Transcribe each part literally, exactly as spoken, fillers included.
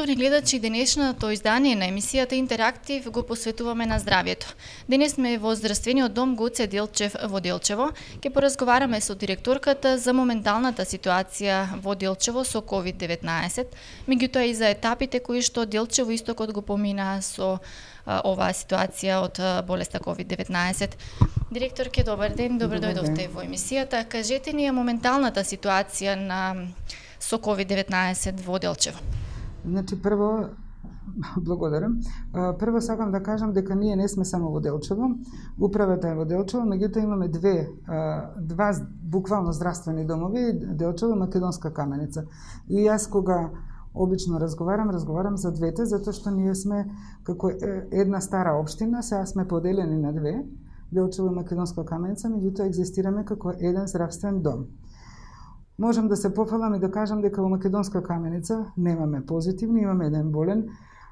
Почитувани гледачи, денешното издание на емисијата Интерактив го посветуваме на здравјето. Денес сме во здравствениот дом Гоце Делчев во Делчево. Ке поразговараме со директорката за моменталната ситуација во Делчево со ковид деветнаесет, меѓутоа и за етапите кои што Делчево истокот го помина со а, оваа ситуација од а, болеста ковид деветнаесет. Директорке, добар ден, добро дојдовте во емисијата. Кажете ни моменталната ситуација на со ковид деветнаесет во Делчево. Значи, прво, благодарам. Прво сакам да кажам дека ние не сме само во Делчево. Управата е во Делчево, меѓутоа имаме две, два буквално здравствени домови, Делчево и Македонска Каменица. И јас кога обично разговарам, разговарам за двете, затоа што ние сме како една стара општина, сега сме поделени на две, Делчево и Македонска Каменица, меѓутоа екзистираме како еден здравствен дом. Можам да се пофалам и да кажам дека во Македонска Каменица немаме позитивни, имаме еден болен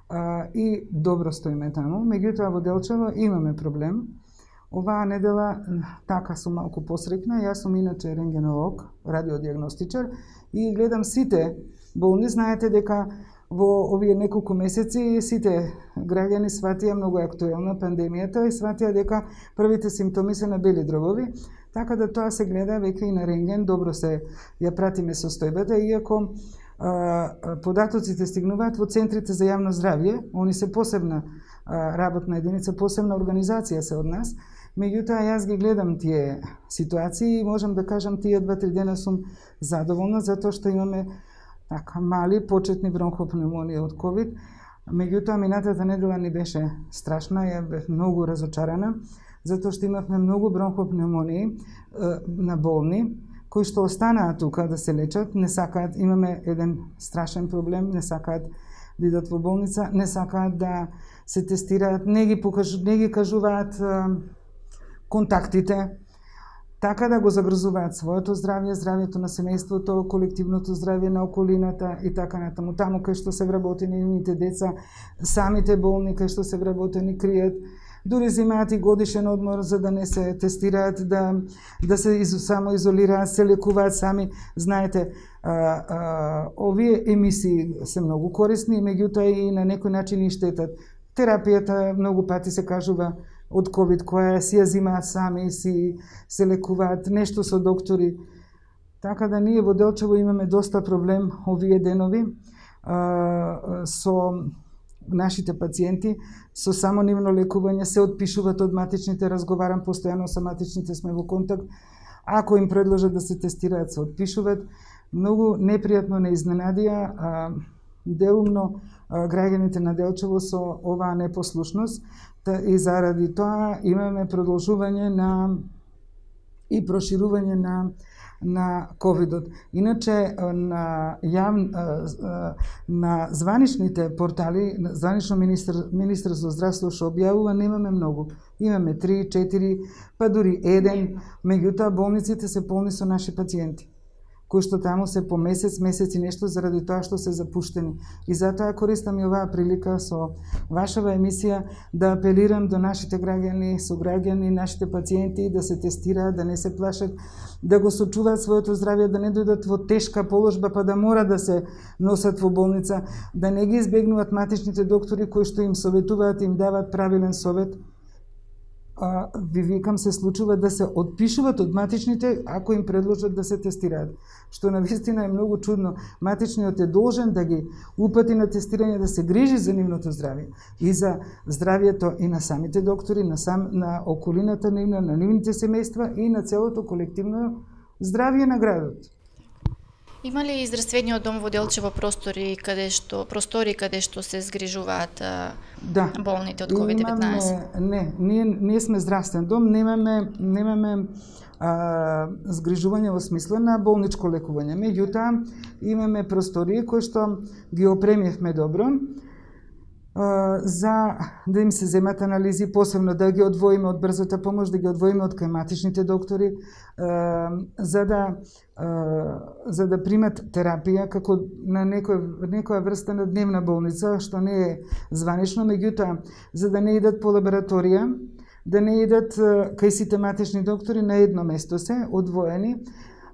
а, и добро стоиме таму. Меѓутоа во Делчево имаме проблем. Оваа недела така сум малку посрекна, јас сум иначе рентгенолог, радиодиагностичар и гледам сите болни. Знаете дека во овие неколку месеци сите граѓани сватија многу актуелна пандемијата и сватија дека првите симптоми се на бели дробови. Така да тоа се гледа веќе и на рентген, добро се ја пратиме состојбата, иако а, податоците стигнуваат во центрите за јавно здравје, они се посебна а, работна единица, посебна организација се од нас. Меѓутоа јас ги гледам тие ситуации и можам да кажам тие два-три дена сум задоволна затоа што имаме така мали почетни бронхопневмонија од ковид. Меѓутоа минатата недела ни беше страшна, ја бев многу разочарана, затоа што имавме многу бронхопневмонии на болни кои што останаа тука да се лечат, не сакаат, имаме еден страшен проблем, не сакаат да идат во болница, не сакаат да се тестираат, не ги покажу, не ги кажуваат а, контактите, така да го загрозуваат своето здравје, здравјето на семејството, колективното здравје на околината и така натаму. Таму кај што се вработени нивните деца, самите болни кај што се вработени кријат, дури земаат и годишен одмор за да не се тестираат, да, да се из, само изолираат, се лекуваат сами. Знаете, а, а, овие емисии се многу корисни, меѓутоа и на некој начин и штетат. Терапијата многу пати се кажува од ковид, која си ја зимаат сами, си се лекуваат, нешто со доктори. Така да ние во Делчево имаме доста проблем овие денови а, со нашите пациенти, со само нивно лекување се отпишуваат од матичните, разговарам постојано со матичните, сме во контакт. Ако им предложат да се тестираат, се отпишуваат. Многу непријатно не изненадија а, делумно а, граѓаните на Делчево со оваа непослушност и заради тоа имаме продолжување на и проширување на на ковидот. Иначе на јав, на званичните портали, званично министр Министерство за здравство што објавува, немаме многу. Имаме три, четири, па дури еден, меѓутоа болниците се полни со наши пациенти, кои што таму се по месец, месец и нешто заради тоа што се запуштени. И затоа користам и оваа прилика со вашава емисија да апелирам до нашите граѓани, сограѓани, нашите пациенти да се тестираат, да не се плашат, да го сочуваат своето здравје, да не дојдат во тешка положба па да мора да се носат во болница, да не ги избегнуваат матичните доктори кои што им советуваат, им даваат правилен совет. А, ви викам, се случува да се отпишуваат од матичните ако им предложат да се тестираат. Што навистина е многу чудно. Матичниот е должен да ги упати на тестирање, да се грижи за нивното здравје и за здравјето и на самите доктори, на, сам, на околината нивна, на нивните семејства и на целото колективно здравје на градот. Има ли здравствениот дом во Делчево простори каде што простори каде што се згрижуваат да. болните од ковид деветнаесет? Не, ние ние сме здравствен дом, немаме немаме а, згрижување во смисла на болничко лекување. Меѓутоа имаме простори кои што ги опремивме добро а, за да им се земат анализи, посебно да ги одвоиме од брзата помош, да ги одвоиме од кај доктори, а, за да за да примат терапија како на некој, некоја врста на дневна болница, што не е званично, меѓутоа, за да не идат по лабораторија, да не идат кај сите матични доктори на едно место се, одвоени,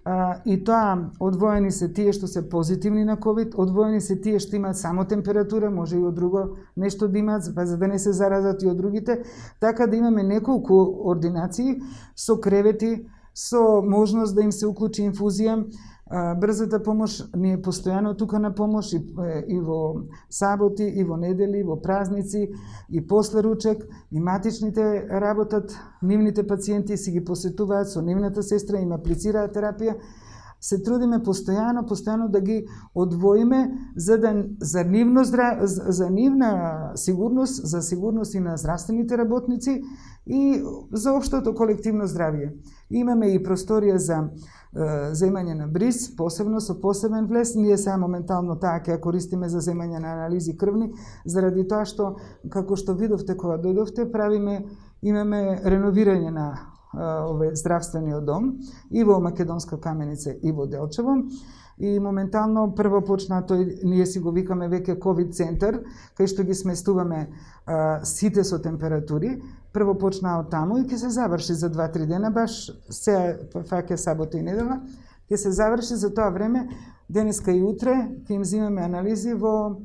А, и тоа, одвоени се тие што се позитивни на ковид, одвоени се тие што имаат само температура, може и од друго нешто да имаат, па за да не се заразат и од другите, така да имаме неколку ординации со кревети, со можност да им се уклучи инфузија. Брзата помош ни е постојано тука на помош и, и во саботи, и во недели, и во празници, и после ручек, и матичните работат, нивните пациенти си ги посетуваат со нивната сестра, им аплицираат терапија. Се трудиме постојано, постојано да ги одвоиме за да за нивно за нивна сигурност, за сигурност и на здравствените работници и за општото колективно здравје. Имаме и просторија за земање на бриз, посебно со посебен влез. Ние сега моментално таа ќе ја користиме за земање на анализи крвни, заради тоа што, како што видовте кога дојдовте, правиме, имаме реновирање на овој здравствениот дом и во Македонска Каменица и во Делчево. И моментално прво почна тој, ние си го викаме веќе ковид центар, кај што ги сместуваме а, сите со температури. Прво почна од таму и ќе се заврши за два-три дена, баш се фаќа сабота и недела, ќе се заврши за тоа време, денеска и утре, ќе им взимаме анализи во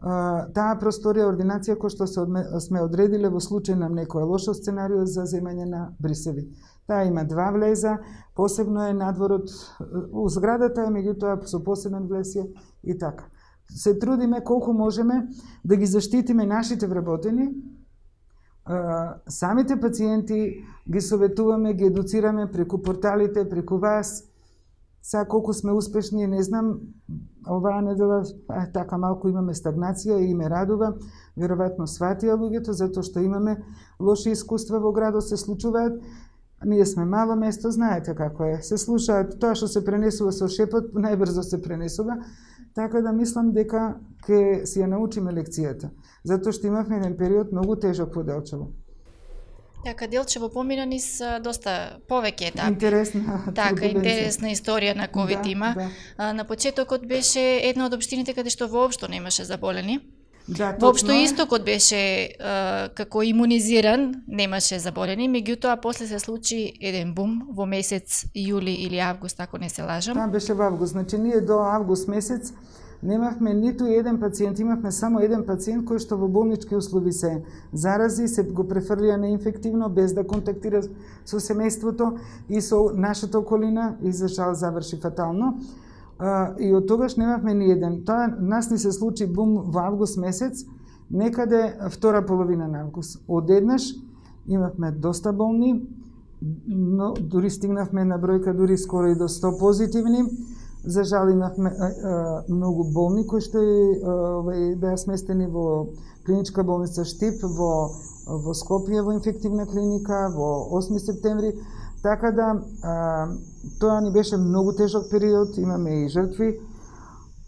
а, таа просторија, ординација која што се одме, сме одредиле во случај на некој лошо сценарио за земање на брисеви. Таа има два влеза, посебно е надворот, у зградата е, меѓутоа со посебен влез е и така. Се трудиме колку можеме да ги заштитиме нашите вработени, самите пациенти ги советуваме, ги едуцираме преку порталите, преку вас. Сега колку сме успешни, не знам, оваа недела така малку имаме стагнација и ме радува. Веројатно сватија луѓето, затоа што имаме лоши искуства во градот, се случуваат. Ние сме мало место, знаете како е. Се слушаат, тоа што се пренесува со шепот, најбрзо се пренесува. Така да мислам дека ќе си ја научиме лекцијата. Затоа што имавме еден период многу тежок во Делчево. Така, Делчево помина низ доста повеќе етапи. Интересна. Така, интересна историја на ковид да, има. Да. На почетокот беше една од општините каде што воопшто немаше заболени. Да, воопшто истокот беше а, како имунизиран, немаше заболени, меѓутоа после се случи еден бум во месец јули или август, ако не се лажам. Тоа беше во август, значи ние до август месец немавме ниту еден пациент, имавме само еден пациент кој што во болнички услови се зарази, се го префрлија неинфективно без да контактира со семејството и со нашата околина и за жал заврши фатално. Uh, и од тогаш немавме ни еден. Тоа нас ни се случи бум во август месец, некаде втора половина на август. Одеднаш имавме доста болни, но дури стигнавме на бројка дури скоро и до сто позитивни. За жал имавме а, а, многу болни кои што и беа сместени во клиничка болница Штип, во, во Скопје, во инфективна клиника, во осми септември. Така да, а, тоа ни беше многу тежок период, имаме и жртви,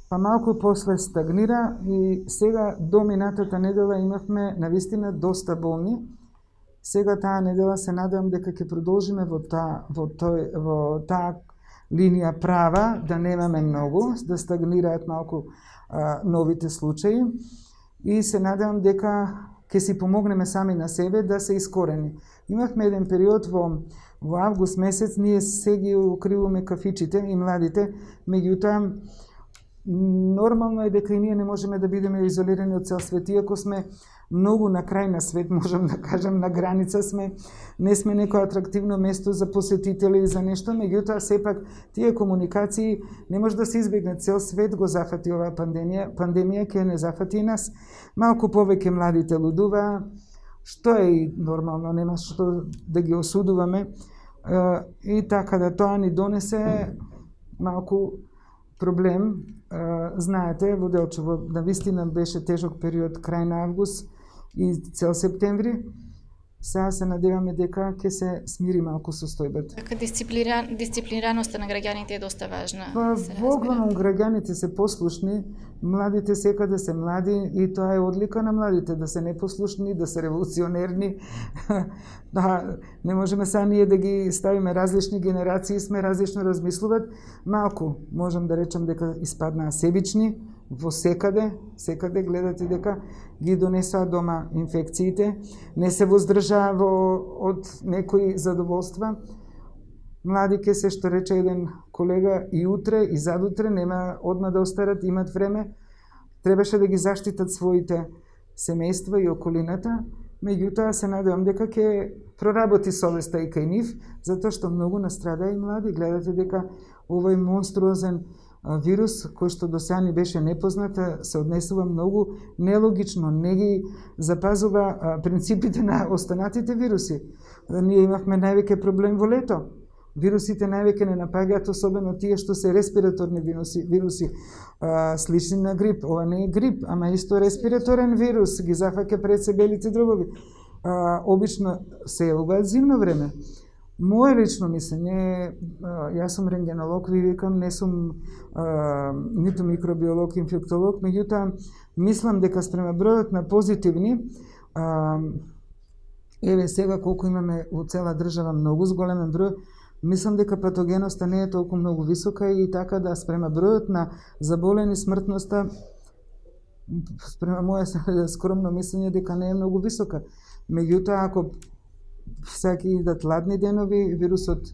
па малку после стагнира и сега до минатата недела имавме навистина доста болни. Сега таа недела се надевам дека ќе продолжиме во таа во тој во таа линија права, да немаме многу, да стагнираат малку а, новите случаи и се надевам дека ќе си помогнеме сами на себе да се искорени. Имавме еден период во Во август месец ние се ги укриваме кафичите и младите, меѓутоа нормално е дека и ние не можеме да бидеме изолирани од цел свет, иако сме многу на крај на свет, можам да кажем, на граница сме, не сме некој атрактивно место за посетители и за нешто, меѓутоа сепак тие комуникации не може да се избегне, цел свет го зафати оваа пандемија, пандемија ќе не зафати и нас. Малку повеќе младите лудува, што е и нормално, нема што да ги осудуваме. И така да тоа ни донесе малку проблем. Знаете, во Делчево навистина беше тежок период крај на август и цел септември. Сега се надеваме дека ќе се смири малку состојбата. Така дисциплиран, дисциплинираноста на граѓаните е доста важна. Па, во главном граѓаните се послушни, младите секаде се млади и тоа е одлика на младите, да се непослушни, да се револуционерни. Да, не можеме сега ние да ги ставиме различни генерации, сме различно размислуват. Малку, можам да речам дека испаднаа себични, во секаде, секаде гледате дека ги донесоа дома инфекциите, не се воздржаа во од некои задоволства. Млади ке се, што рече еден колега, и утре, и задутре, нема одма да остарат, имат време. Требаше да ги заштитат своите семејства и околината. Меѓутоа се надевам дека ќе проработи совеста и кај нив, затоа што многу настрада и млади. Гледате дека овој монструозен вирус, кој што до сега ни беше непознат, се однесува многу нелогично, не ги запазува принципите на останатите вируси. Ние имавме највеќе проблем во лето. Вирусите највеќе не напаѓаат, особено тие што се респираторни вируси, вируси а, слични на грип. Ова не е грип, ама исто респираторен вирус, ги зафаќа пред се белите дробови. А, обично се јавуваат зимно време. Моje лично мислење, јас сум рентгенолог, ви викам, не сум а, ниту микробиолог, инфектолог, меѓутоа мислам дека спрема бројот на позитивни, а, еве сега колку имаме во цела држава многу зголемен број, мислам дека патогеноста не е толку многу висока и така да спрема бројот на заболени, смртноста, спрема моје скромно мислење дека не е многу висока. Меѓутоа, ако всеки идат ладни денови, вирусот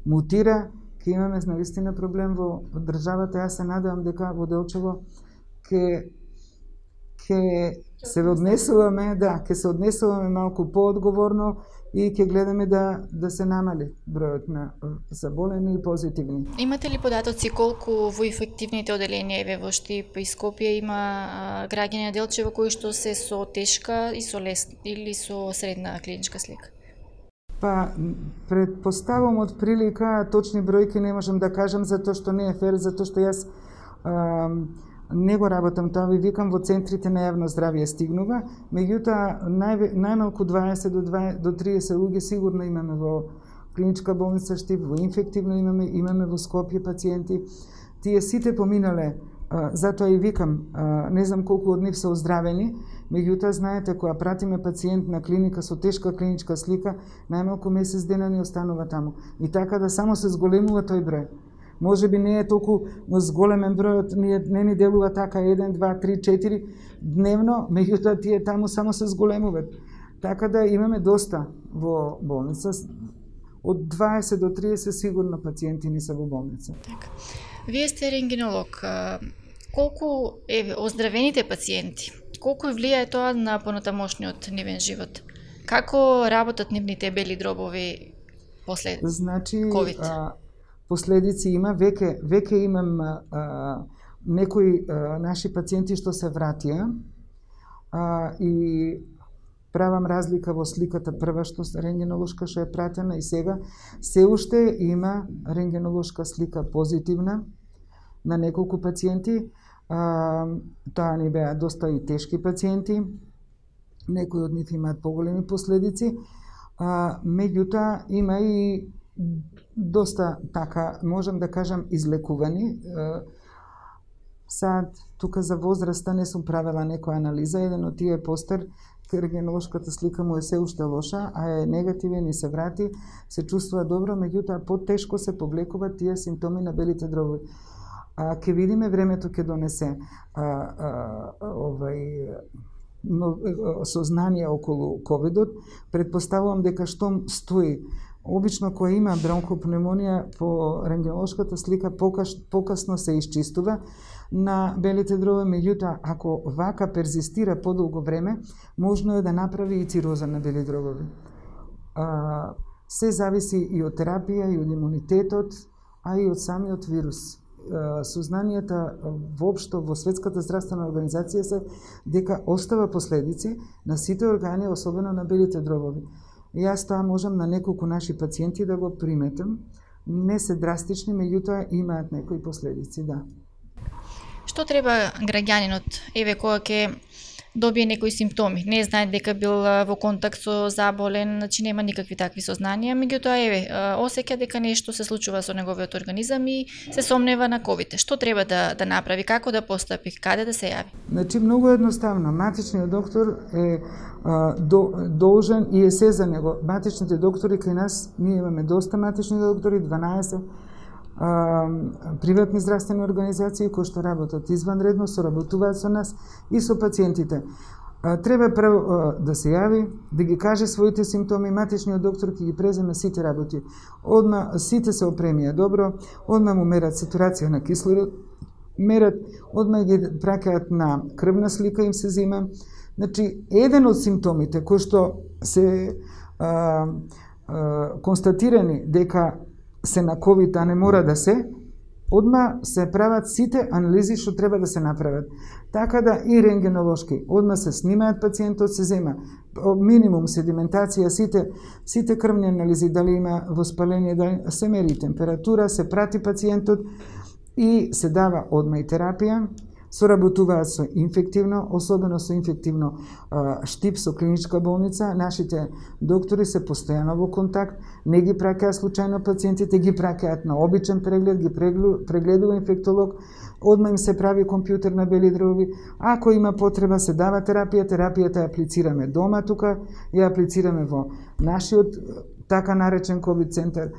мутира, ќе имаме навистина проблем во државата. Јас се надевам дека во Делчево ќе ќе се однесуваме, да, ќе се однесуваме малку поодговорно и ќе гледаме да да се намали бројот на заболени и позитивни. Имате ли податоци колку во инфективните оделенија еве во Штип и Скопје има а, граѓани на Делчево кои што се со тешка и со лесна или со средна клиничка слика? Па, предпоставам од прилика, точни бројки не можам да кажам, затоа што не е фер, затоа што јас а, не го работам тоа, ви викам, во центрите на јавно здравје стигнува, меѓутоа нај, најмалку дваесет до триесет луѓе сигурно имаме во клиничка болница Штип, во инфективно имаме, имаме во Скопје пациенти. Тие сите поминале, а, затоа и викам, а, не знам колку од нив се оздравени, меѓутоа знаете, кога пратиме пациент на клиника со тешка клиничка слика, најмалку месец дена ни останува таму. И така да само се зголемува тој број. Може би не е толку зголемен бројот, не ни делува така еден, два, три, четири дневно, меѓутоа тие таму само се зголемуваат. Така да имаме доста во болница. Од дваесет до триесет сигурно пациенти ни се во болница. Така. Вие сте рентгенолог. Колку е оздравените пациенти, колку влијае тоа на понатамошниот нивен живот? Како работат нивните бели дробови после значи, ковид? А, последици има, веќе веќе имам а, некои а, наши пациенти што се вратија а, и правам разлика во сликата прва што рентгенолошка што е пратена и сега се уште има рентгенолошка слика позитивна на неколку пациенти. А, тоа ни беа доста и тешки пациенти, некои од нив имаат поголеми последици, а, меѓутоа има и доста така, можам да кажам, излекувани. Сад, тука за возраста не сум правила некоја анализа, еден од тие постер, рентгенолошката слика му е се уште лоша, а е негативен и се врати, се чувствува добро, меѓутоа потешко се повлекуваат тие симптоми на белите дробови. А ќе видиме, времето ќе донесе а, а, овај но, сознание околу ковидот. Предпоставувам дека што стои обично кој има бронхопневмонија по рентгенолошката слика покаш, покасно се исчистува на белите дробови, меѓутоа ако вака перзистира подолго време, можно е да направи и цироза на бели дробови. А, се зависи и од терапија, и од имунитетот, а и од самиот вирус. Сознанијата воопшто во Светската здравствена организација се дека остава последици на сите органи, особено на белите дробови. Јас тоа можам на неколку наши пациенти да го приметам. Не се драстични, меѓутоа имаат некои последици, да. Што треба граѓанинот, еве кога ќе добие некои симптоми, не знае дека бил во контакт со заболен, значи нема никакви такви сознанија, меѓутоа еве осеќа дека нешто се случува со неговиот организам и се сомнева на ковид. Што треба да да направи, како да постапи, каде да се јави? Значи многу едноставно, матичниот доктор е а, до, должен и е се за него. Матичните доктори кај нас, ние имаме доста матични доктори, дванаесет а, приватни здравствени организации кои што работат изванредно, соработуваат со нас и со пациентите. треба прво да се јави, да ги каже своите симптоми, матичниот доктор ќе ги преземе сите работи. Одма сите се опремија добро, одма му мерат сатурација на кислород, мерат, одма ги праќаат на крвна слика, им се зема. Значи, еден од симптомите кои што се а, а, констатирани дека се на ковид, а не мора да се, одма се прават сите анализи што треба да се направат. Така да и рентгенолошки, одма се снимаат пациентот, се зема минимум седиментација, сите, сите крвни анализи, дали има воспаление, дали се мери температура, се прати пациентот и се дава одма и терапија. Соработуваат со инфективно, особено со инфективно а, штип со клиничка болница. Нашите доктори се постојано во контакт, не ги праќаат случајно пациентите, ги праќаат на обичен преглед, ги прегледува инфектолог, одма им се прави компјутер на бели дрови. Ако има потреба, се дава терапија, терапијата ја аплицираме дома тука, ја аплицираме во нашиот така наречен ковид центар.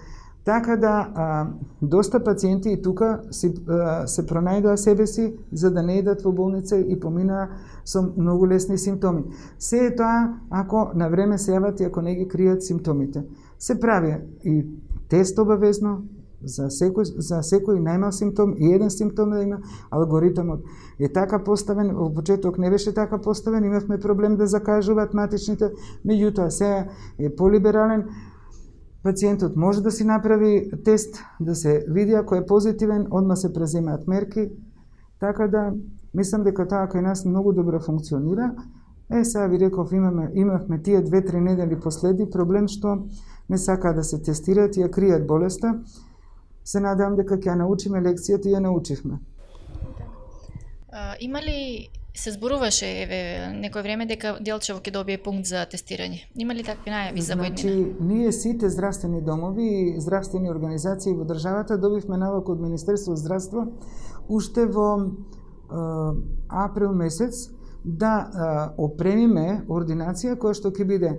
Така да, а, доста пациенти и тука си, а, се пронајдоа себе си за да не идат во болница и поминаа со многу лесни симптоми. Се е тоа ако на време се јават и ако не ги кријат симптомите. Се прави и тест обавезно за секој, за секој најмал симптом и еден симптом да има. Алгоритмот е така поставен, во почеток не беше така поставен, имавме проблем да закажуваат матичните, меѓутоа сега е полиберален. Пациентот може да си направи тест, да се види ако е позитивен, одма се преземаат мерки. Така да, мислам дека тоа кај нас многу добро функционира. Е, сега ви реков, имаме, имавме тие две-три недели последи проблем што не сакаа да се тестираат и ја кријат болеста. Се надевам дека ќе ја научиме лекцијата и ја научивме. А, има ли се зборуваше еве некој време дека Делчево ќе добие пункт за тестирање? Има ли такви најави за војднина? Значи, ние сите здравствени домови и здравствени организации во државата добивме налог од Министерство здравство уште во е, април месец да е, опремиме ординација која што ќе биде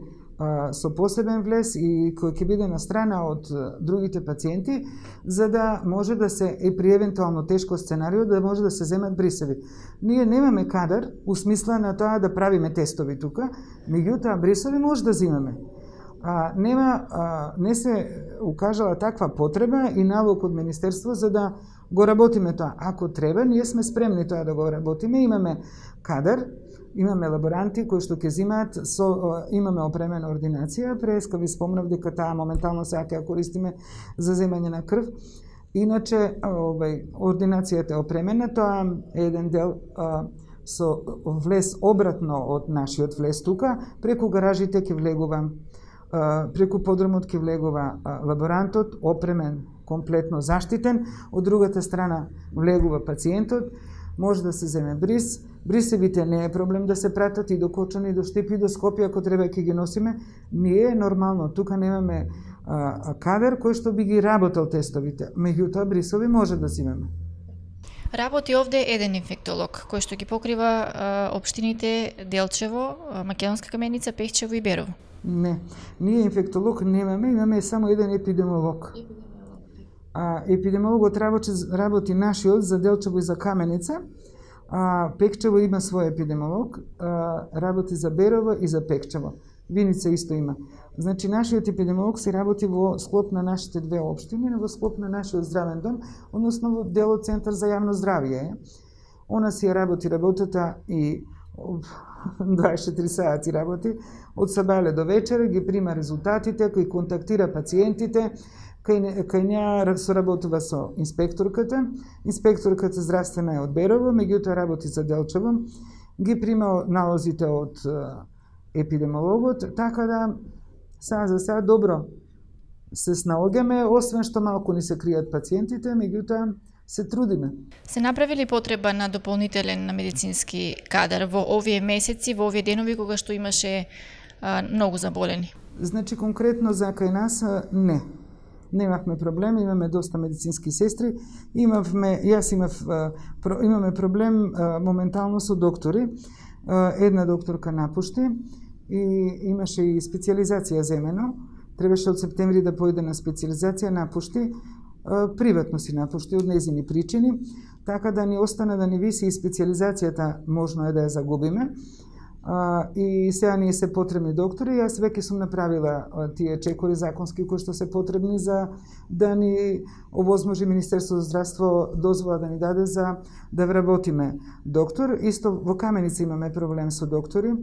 со посебен влез и кој ќе биде на страна од другите пациенти, за да може да се, и при евентуално тешко сценарио, да може да се земат брисеви. Ние немаме кадар, у смисла на тоа да правиме тестови тука, меѓутоа брисеви може да земаме. А, нема, а, не се укажала таква потреба и налог од Министерство за да го работиме тоа. Ако треба, ние сме спремни тоа да го работиме, имаме кадар, имаме лаборанти кои што ќе земаат, со, имаме опремена ординација, преска ви спомнав дека таа моментално сега ќе ја користиме за земање на крв. Иначе, овај, ординацијата е опремена, тоа е еден дел а, со влез обратно од нашиот влез тука, преку гаражите ќе влегува, а, преку подромот ќе влегува а, лаборантот, опремен, комплетно заштитен, од другата страна влегува пациентот, може да се земе бриз. Брисевите не е проблем да се пратат и до Кочани, и до Штип, и до Скопје, ако треба ќе ги носиме. Ние нормално тука немаме а, кадар кој што би ги работел тестовите, меѓутоа брисови може да земеме. Работи овде еден инфектолог кој што ги покрива а, општините Делчево, Македонска Каменица, Пехчево и Берово. Не, ние инфектолог немаме, имаме само еден епидемиолог. А, епидемиологот работи, работи нашиот за Делчево и за Каменица, а Пекчево има свој епидемиолог, а, работи за Берово и за Пекчево. Виница исто има. Значи, нашиот епидемиолог се работи во склоп на нашите две општини, во склоп на нашиот здравен дом, односно во делот Центар за јавно здравје. Она си работи работата и дваесет и четири сати работи, од сабале до вечера, ги прима резултатите, кои контактира пациентите, кај, кај неа соработува со инспекторката. Инспекторката здравствена е од Берово, меѓутоа работи за Делчево, ги прима налозите од епидемиологот, така да сега за сега добро се снаоѓаме, освен што малку ни се кријат пациентите, меѓутоа се трудиме. Се направи ли потреба на дополнителен медицински кадар во овие месеци, во овие денови кога што имаше а, многу заболени? Значи конкретно за кај нас не. Немавме проблем, имаме доста медицински сестри, имавме, јас имав, имаме проблем моментално со доктори. Една докторка напушти и имаше и специализација земено. Требаше од септември да појде на специализација, напушти. Приватно си напушти од незини причини, така да ни остана да ни виси и специализацијата, можно е да ја загубиме. А, и сега ние се потребни доктори. Јас веќе сум направила тие чекори законски кои што се потребни за да ни овозможи Министерството за здравство дозвола да ни даде за да вработиме доктор. Исто во Каменица имаме проблем со доктори.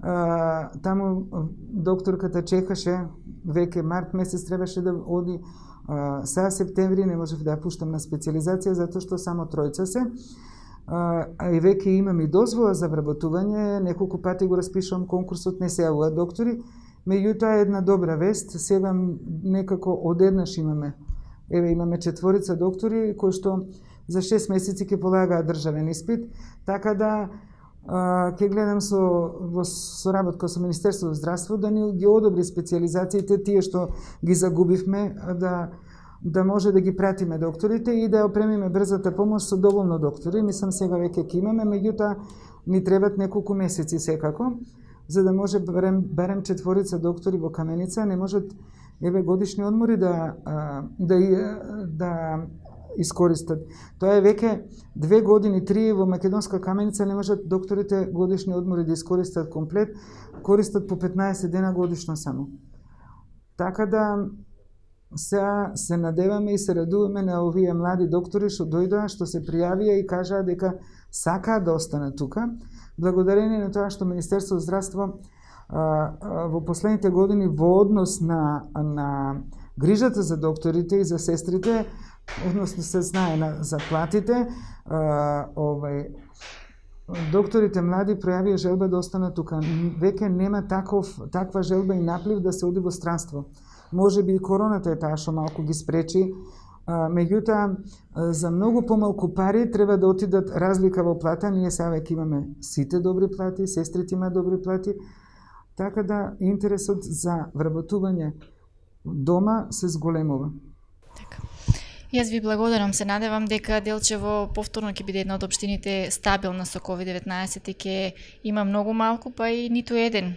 А, таму докторката чекаше веќе март месец требаше да оди. А, сега септември не можев да ја пуштам на специализација затоа што само тројца се. А, и веќе имам и дозвола за вработување, неколку пати го распишувам конкурсот, не се јавуваат доктори, меѓутоа е една добра вест, сега некако одеднаш имаме, еве имаме четворица доктори кои што за шест месеци ќе полагаат државен испит, така да а, ќе гледам со во соработка со Министерството за здравство да ни ги одобри специализациите, тие што ги загубивме, да да може да ги пратиме докторите и да опремиме брзата помош со доволно доктори. Мислам сега веќе ќе имаме, меѓутоа ни требат неколку месеци секако, за да може барем, барем четворица доктори во Каменица, не можат еве годишни одмори да да да искористат. Тоа е веќе две години, три во Македонска Каменица не можат докторите годишни одмори да искористат комплет, користат по петнаесет дена годишно само. Така да сега се надеваме и се радуваме на овие млади доктори што дојдоа, што се пријавија и кажаа дека сакаат да останат тука. Благодарение на тоа што Министерството за здравство а, а, во последните години во однос на, на грижата за докторите и за сестрите, односно се знае на заплатите, а, овај, докторите млади пројавија желба да останат тука. Веќе нема таков, таква желба и наплив да се оди во странство. Може би и короната е таа што малку ги спречи, а, меѓутоа за многу помалку пари треба да отидат разлика во плата. Ние сега веќе имаме сите добри плати, сестрите имаат добри плати, така да интересот за вработување дома се зголемува. Така. Јас ви благодарам, се надевам дека Делчево повторно ќе биде една од општините стабилна со ковид деветнаесет и ќе има многу малку, па и ниту еден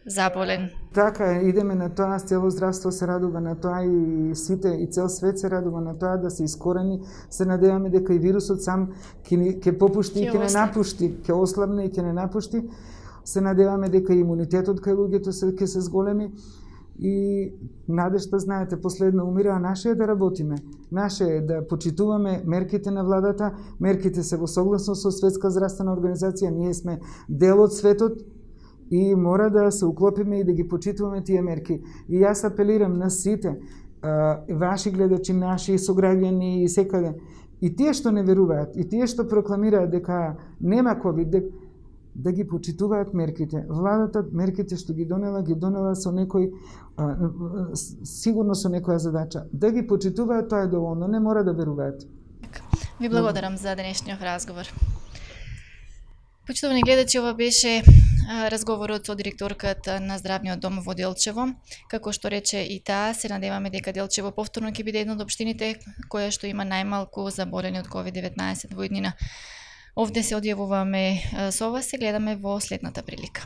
заболен. Така, идеме на тоа, цело здравство се радува на тоа и сите, и цел свет се радува на тоа да се искорени. Се надеваме дека и вирусот сам ќе ќе попушти и ќе не напушти, ќе ослабне и ќе не напушти. Се надеваме дека имунитетот кај луѓето се ќе се зголеми и надежта, знаете, последно умира, а наше е да работиме. Наше е да почитуваме мерките на владата, мерките се во согласност со Светска здравствена организација, ние сме дел од светот, и мора да се уклопиме и да ги почитуваме тие мерки. И јас апелирам на сите, а, ваши гледачи, наши сограѓани и секаде, и тие што не веруваат, и тие што прокламираат дека нема ковид, дека, да ги почитуваат мерките. Владата мерките што ги донела, ги донела со некој, а, сигурно со некоја задача. Да ги почитуваат, тоа е доволно, не мора да веруваат. Ви благодарам за денешниот разговор. Почитувани гледачи, ова беше разговорот со директорката на Здравниот дом во Делчево. Како што рече и таа, се надеваме дека Делчево повторно ќе биде една од општините која што има најмалку заболени од ковид деветнаесет во иднина. Овде се одјавуваме со вас, се гледаме во следната прилика.